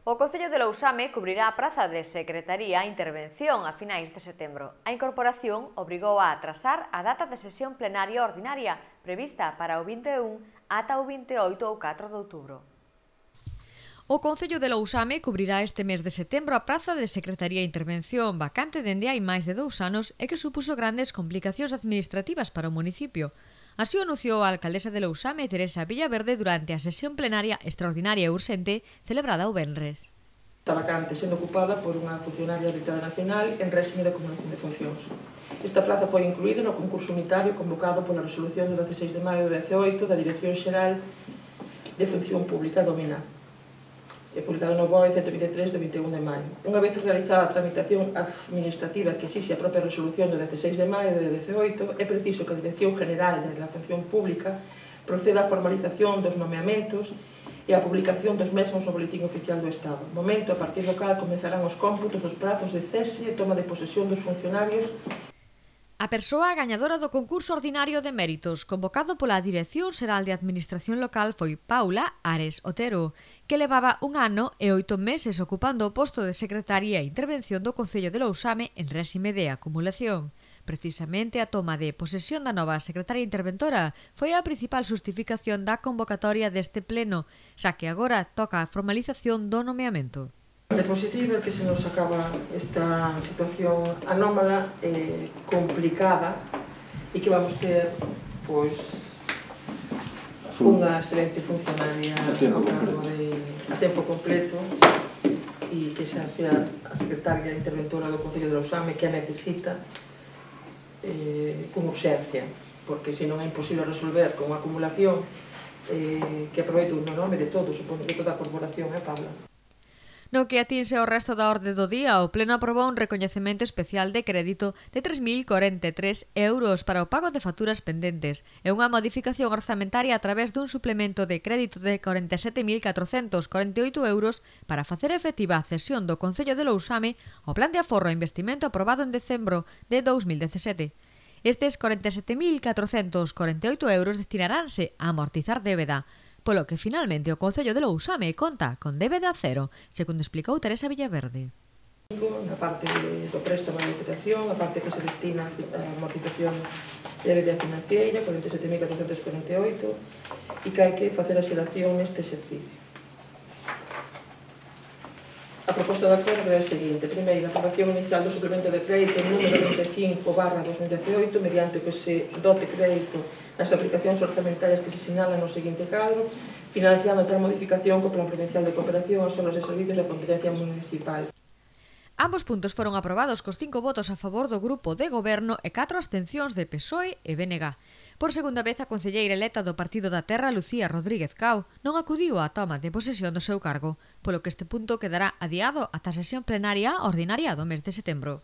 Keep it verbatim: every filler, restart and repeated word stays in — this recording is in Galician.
O Concello de Lousame cubrirá a praza de Secretaría e Intervención a finais de setembro. A incorporación obrigou a atrasar a data de sesión plenaria ordinaria prevista para o vinte e un ata o vinte e oito ou catro de outubro. O Concello de Lousame cubrirá este mes de setembro a praza de Secretaría e Intervención vacante dende hai máis de dous anos e que supuso grandes complicacións administrativas para o municipio. Así o anunciou a alcaldesa de Lousame, Teresa Villaverde, durante a sesión plenaria extraordinaria e urxente celebrada o venres. Está vacante sendo ocupada por unha funcionaria habilitada nacional en réxime de acumulación de funcións. Esta plaza foi incluída no concurso unitario convocado pola resolución do dezaseis de maio de dezaoito da Dirección Xeral de Función Pública do MINA, publicado no B O E ciento vinte e tres de vinte e un de maio. Unha vez realizada a tramitación administrativa que exixe a propia resolución do dezaseis de maio de dezaoito, é preciso que a Dirección General de la Función Pública proceda á formalización dos nomeamentos e a publicación dos mesmos no Boletín Oficial do Estado, momento a partir do cal comenzarán os cómputos dos prazos de cese e toma de posesión dos funcionarios. A persoa gañadora do concurso ordinario de méritos convocado pola Dirección Xeral de Administración Local foi Paula Ares Otero, que levaba un ano e oito meses ocupando o posto de Secretaría e Intervención do Concello de Lousame en réxime de acumulación. Precisamente a toma de posesión da nova secretaria interventora foi a principal xustificación da convocatoria deste pleno, xa que agora toca a formalización do nomeamento. É positivo que se nos acaba esta situación anómala e complicada e que vamos ter pois unha excelente funcionaria a cargo de a tempo completo e que xa sea a secretaria interventora do Concello de Lousame que a necesita eh, con urxencia, porque se non é imposible resolver con unha acumulación eh, que aproveito no nome de todos, supoño de toda a corporación, eh, Pablo? No que atinse ao resto da orde do día, o Pleno aprobou un recoñecemento especial de crédito de tres mil corenta e tres euros para o pago de facturas pendentes e unha modificación orzamentaria a través dun suplemento de crédito de corenta e sete mil catrocentos corenta e oito euros para facer efectiva a cesión do Concello de Lousame ao Plan de Aforro e Investimento aprobado en decembro de dous mil dezasete. Estes corenta e sete mil catrocentos corenta e oito euros destinaránse a amortizar débeda, polo que finalmente o Concello de Lousame conta con débeda cero, segundo explicou Teresa Villaverde. Na parte do préstamo de liquidación, a parte que se destina a amortización de débeda financiera, corenta e sete mil catrocentos corenta e oito, e que hai que facer a xeración neste exercicio. A proposta de acordo é a seguinte. Primeiro, a aprobación inicial do suplemento de crédito número vinte e cinco barra dos mil dezaoito, mediante o que se dote crédito nas aplicacións orzamentarias que se sinalan no seguinte cadro, financiando tal modificación co Plan Provincial de Cooperación aos obras e servicios da competencia municipal. Ambos puntos foron aprobados cos cinco votos a favor do grupo de goberno e catro abstencións de P S O E e B N G. Por segunda vez, a concelleira eleta do Partido da Terra, Lucía Rodríguez Cao, non acudiu á toma de posesión do seu cargo, polo que este punto quedará adiado ata a sesión plenaria ordinaria do mes de setembro.